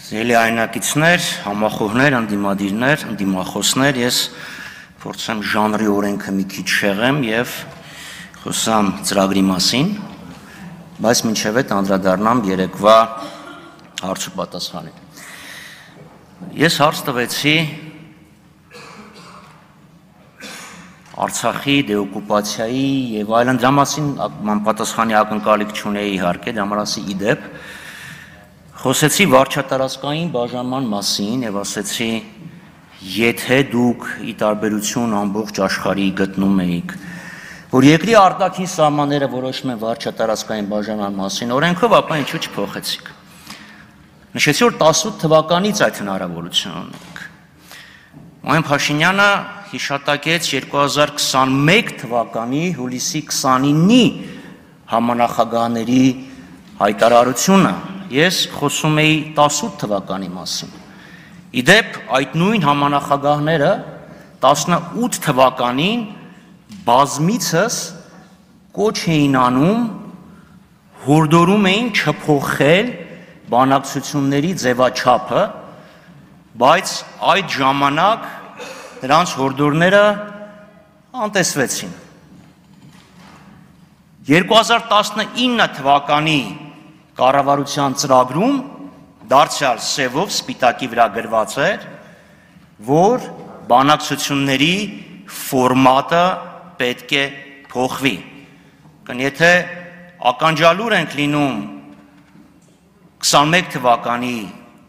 Սիրելի այնակիցներ, համախոհներ, անդիմադիրներ, անդիմախոսներ, ես փորձեմ ժանրի օրենքը մի քիչ շեղեմ եւ խոսամ ծրագրի մասին, բայց մինչև այդ անդրադառնամ երեկվա հարց ու պատասխանին։ Ես հարց տվեցի Արցախի դեօկուպացիայի եւ այլն դրա մասին պատասխանի ակնկալիք չունեի իհարկե, դրա մասի իդեպ խոսեցի վարչատարածքային բաժանման մասին եւ ասեցի, եթե դուք ի տարբերություն ամբողջ աշխարհի գտնում էիք, որ երկրի արտաքին սահմանները որոշում են վարչատարածքային բաժանման մասին օրենքով, ապա ինչու չփոխեցիք։ Նշեցի, որ 18 թվականից այդ հնարավորությունը ունենք։ Մոհեն Փաշինյանը հիշատակեց 2021 թվականի հուլիսի 29-ի համանախագահների հայտարարությունը, ես խոսում էի 18 թվականի մասին։ Իդեպ այդ նույն համանախագահները 18 թվականին բազմիցս կոչ էին անում, հորդորում էին չփոխել բանակցությունների ձևաչափը, բայց այդ ժամանակ նրանց հորդորները անտեսվեցին։ 2019 թվականի կառավարության ծրագրում դարձյալ սևով սպիտակի վրա գրված էր, որ բանակցությունների ֆորմատը պետք է փոխվի։ Եթե ականջալուր ենք լինում 21 թվականի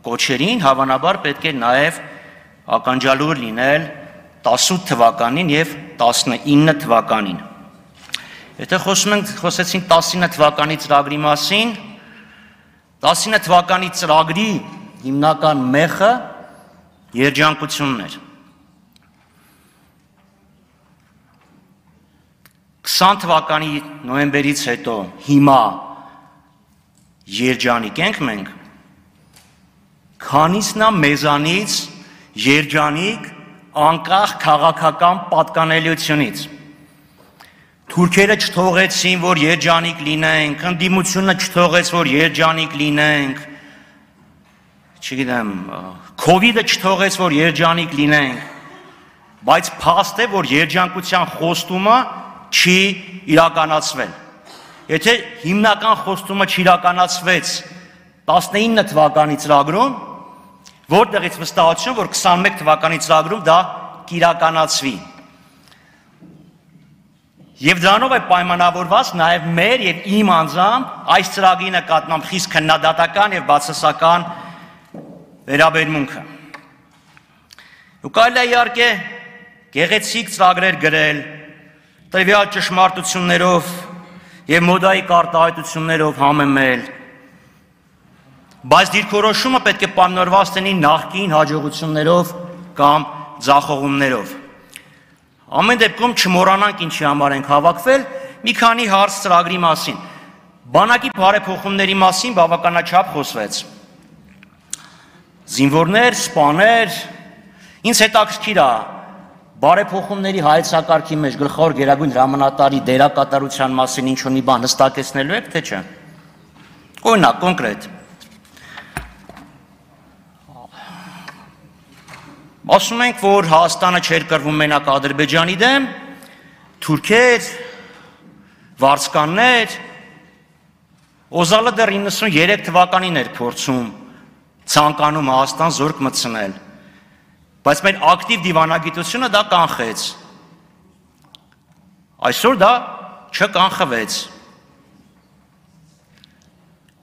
կոչերին, հավանաբար պետք է նաև ականջալուր լինել 18 թվականին եւ 19 թվականին։ Եթե խոսեցինք 19 թվականի ծրագրի մասին, 19 թվականի ծրագրի հիմնական մեխը երջանկությունն էր։ 20 թվականի նոյեմբերից հետո հիմա երջանիկ ենք մենք, քանիսն է մեզանից երջանիկ անկախ քաղաքական պատկանելիությունից։ Թուրքերը չթողեցին, որ երջանիկ լինենք, ընդդիմությունը չթողեց, որ երջանիկ լինենք, չգիտեմ, քովիդը չթողեց, որ երջանիկ լինենք, բայց փաստ է, որ երջանկության խոստումը չի իրականացվել։ Եթե հիմնական խոստումը չիրականացվեց 19 թվականի ծրագրում, որտեղից վստահություն, որ 21 թվականի ծրագրում դա կիրականացվի։ Եվ դրանով է պայմանավորված նաև մեր եւ իմ անձամբ այս ծրագրի նկատմամբ խիստ քննադատական եւ բացասական վերաբերմունքը։ Ու կարելի է իհարկե գեղեցիկ ծրագրեր գրել, տվյալ ճշմարտություններով եւ մոդայիկ արտահայտություններով համեմել, բայց դիրքորոշումը պետք է պայմանավորված լինի նախկին հաջողություններով կամ ձախողումներով։ Ամեն դեպքում չմոռանանք ինչի համար ենք հավաքվել, մի քանի հարց ծրագրի մասին։ Բանակի բարեփոխումների մասին բավականաչափ խոսվեց։ Զինվորներ, սպաներ, ինձ հետաքրքիր է բարեփոխումների հայեցակարգի մեջ գլխավոր գերագույն հրամանատարի դերակատարության մասին ինչ-որ մի բան հստակեցնելու եք, թե չէ։ Օրինակ, կոնկրետ։ Ասում ենք, որ Հայաստանը չէր կռվում մենակ Ադրբեջանի դեմ, թուրքեր, վարձկաններ, Օզալը դեռ 93 թվականին էր փորձում ցանկանում Հայաստան զորք մտցնել, բայց մեր ակտիվ դիվանագիտությունը դա կանխեց։ Այսօր դա չկանխվեց։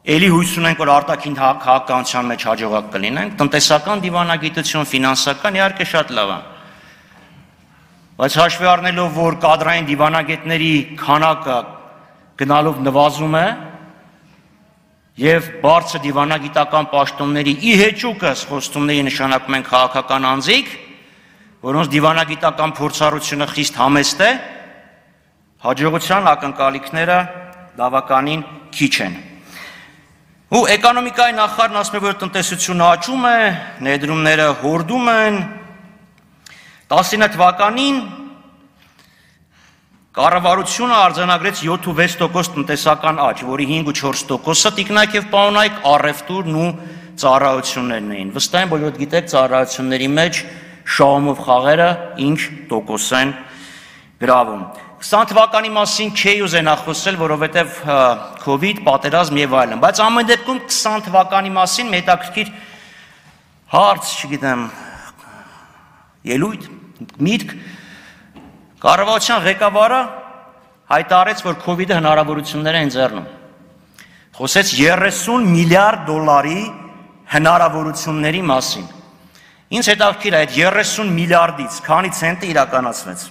Էլի հույս ունենք, որ արտաքին քաղաքականության մեջ հաջողակ կլինենք, տնտեսական դիվանագիտություն, ֆինանսական իհարկե շատ լավ է։ Բայց հաշվի առնելով, որ կադրային դիվանագետների քանակը գնալով նվազում է եւ բարձր դիվանագիտական պաշտոնների ի հեճուկս խոստումների նշանակում են քաղաքական անձիկ, որոնց դիվանագիտական փորձառությունը խիստ համեստ է, հաջողության ակնկալիքները բավականին քիչ են։ Ու էկոնոմիկայի նախարարն ասում է, որ տնտեսությունը աճում է, ներդրումները հորդում են։ 19 թվականին կառավարությունը արձանագրեց 7.6% տնտեսական աճ, որի 5.4%-ը տիկնայք եւ պարոնայք առևտուրն ու ծառայություններն էին։ Վստահ եմ, բոլորդ գիտեք ծառայությունների մեջ շահումով խաղերը ինչ տոկոս են գրավում։ 20 թվականի մասին չէի ուզենա խոսել, որովհետև COVID, պատերազմ եւ այլն, բայց ամեն դեպքում 20 թվականի մասին հետաքրքիր հարց, չգիտեմ, ելույթ, միտք, կառավարության ղեկավարը հայտարարեց, որ COVID-ը հնարավորություններ է ընձեռնում։ Խոսեց 30 միլիարդ դոլարի հնարավորությունների մասին։ Ինձ հետաքրքիր է այդ 30 միլիարդից քանի ցենտը իրականացվեց։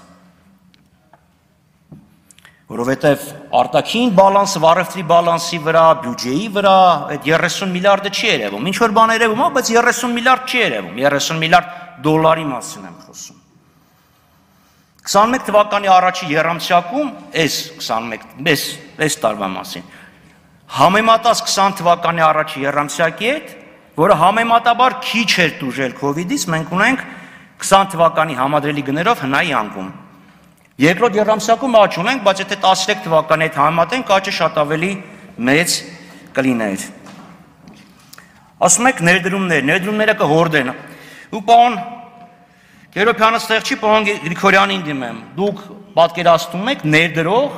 Որովհետև արտաքին բալանսը, վառևտրի բալանսի վրա, բյուջեի վրա այդ 30 միլիարդը չի երևում։ Ինչ որ բան երևում է, բայց 30 միլիարդ չի երևում։ 30 միլիարդ դոլարի մասին եմ խոսում։ 21 թվականի առաջի եռամսյակում, այս տարվա մասին, համեմատած 20 թվականի առաջի եռամսյակի հետ, որը համեմատաբար քիչ էր տուժել COVID-ից, մենք ունենք 20 թվականի համադրելի գներով հնայի անկում։ Երկրորդ եռամսյակում աճ ունենք, բայց եթե 13 թվականի հետ համեմատենք, աճը շատ ավելի մեծ կլիներ։ Ասում եք ներդրումները կհորդեն։ Ու պարոն Գերոբյանը ստեղ չի, պարոն Գրիգորյանին դիմեմ։ Դուք պատկերացնում եք ներդրող,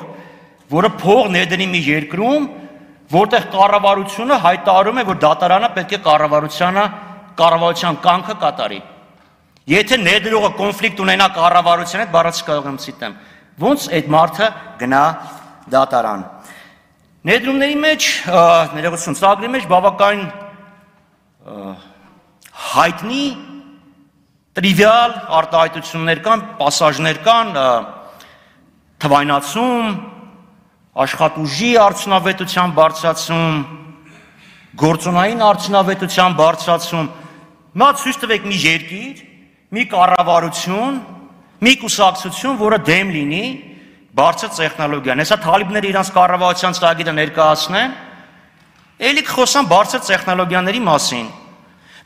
որը փող ներդրի մի երկրում, որտեղ կառավարությունը հայտարարում է, որ դատարանը պետք է կառավարության կամքը կատարի։ Եթե ներդրողը կոնֆլիկտ ունենա կառավարության հետ, բառացի կարող եմ ցիտեմ, ոնց այդ մարդը գնա դատարան։ Ներդրումների մեջ, ներողություն, ծրագրի մեջ բավական հայտնի տրիվիալ արտահայտություններ կան, պասաժներ կան, թվայնացում, աշխատուժի արդյունավետության բարձրացում, գործոնային արդյունավետության բարձրացում։ Նա ցույց տվեք մի երկիր, մի կառավարություն, մի կուսակցություն, որը դեմ լինի բարձր տեխնոլոգիան։ Հեսա թալիբները իրանց կառավարության ծրագիրը ներկայացնեն, էլի կխոսան բարձր տեխնոլոգիաների մասին։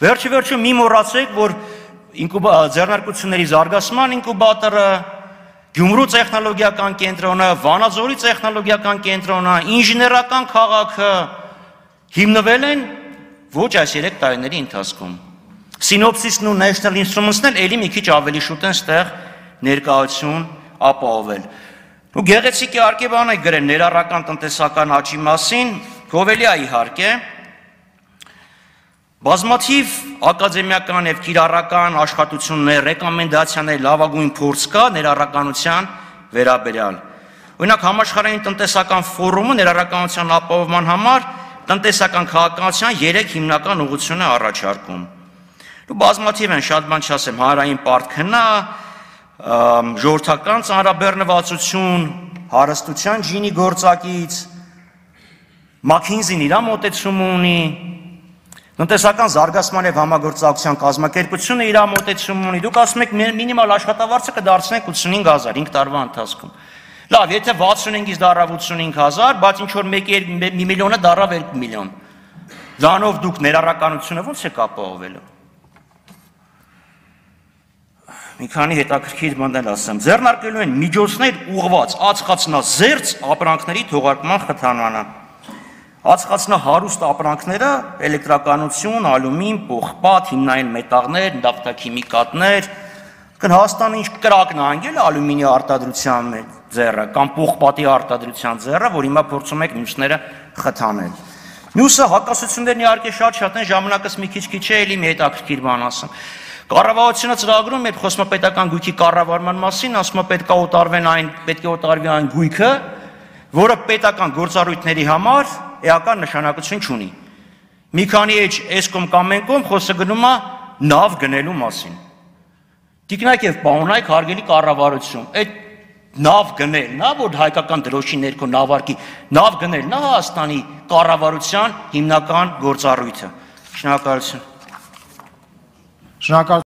Վերջը մի մոռացեք, որ ձեռնարկությունների զարգացման ինկուբատորը, Գյումրու տեխնոլոգիական կենտրոնը, Վանաձորի տեխնոլոգիական կենտրոնը, ինժեներական քաղաքը հիմնվել են ոչ այս 3 տարիների ընթացքում։ Synopsys-ն ու National Instruments-ն էլ էլի մի քիչ ավելի շուտ են ստեղ ներկայություն ապահովել։ Ու գեղեցիկ իհարկե բան է գրել ներառական տնտեսական աճի մասին, գովելի է իհարկե։ Բազմաթիվ ակադեմիական եւ կիրառական աշխատություններ, ռեկոմենդացիաներ, լավագույն փորձ կա ներառականության վերաբերյալ։ Օրինակ համաշխարհային տնտեսական ֆորումը ներառականության ապահովման համար տնտեսական քաղաքականության 3 հիմնական ուղղություն է առաջարկում։ Ու բազմաթիվ են, շատ բան չասեմ, հանրային պարտքնա, ժողովրդական ծանրաբեռնվածություն, հարստության ջինի գործակից, McKinsey-ն իր մոտեցում ունի, տնտեսական զարգացման եւ համագործակցության կազմակերպությունը իր մոտեցում ունի։ Դուք ասում եք մինիմալ աշխատավարձը կդարձնենք 85000 5 տարվա ընթացքում։ Լավ, եթե 65-ից դառավ 85000, բայց ինչ որ 1 միլիոնը դառավ 2 միլիոն։ Դրանով դուք ներառականությունը ո՞նց եք ապահովելու։ Մի քանի հետաքրքիր բաներ ասեմ։ Ձեռնարկելու են միջոցներ ուղղված ածխածնազերծ ապրանքների թողարկման խթանմանը։ Ածխածնահարուստ ապրանքները էլեկտրականություն, ալումին, պողպատ, հիմնային մետաղներ, նավթաքիմիկատներ, Հայաստանը ինչ կրակն է անգել ալումինի արտադրության ձեռը կամ պողպատի արտադրության ձեռը, որ հիմա փորձում եք մյուսները խթանել։ Մյուսը հակասություններն իհարկե շատ են, ժամանակս մի քիչ է, էլի մի հետաքրքիր բան ասեմ։ Կառավարությունը ծրագրում է խոսում պետական գույքի կառավարման մասին, ասում է պետք է օտարվի այն գույքը, որը պետական գործառույթների համար էական նշանակություն չունի։ Մի քանի էսկոմ կամ մենկոմ խոսքը գնում է նավ գնելու մասին։ Տիկնայք եւ պարոնայք, հարգելի կառավարություն, այդ նավ գնելն է, որ հայկական դրոշի ներքո նավարկի, նավ գնելն է Հայաստանի կառավարության հիմնական գործառույթը։ Շնորհակալություն։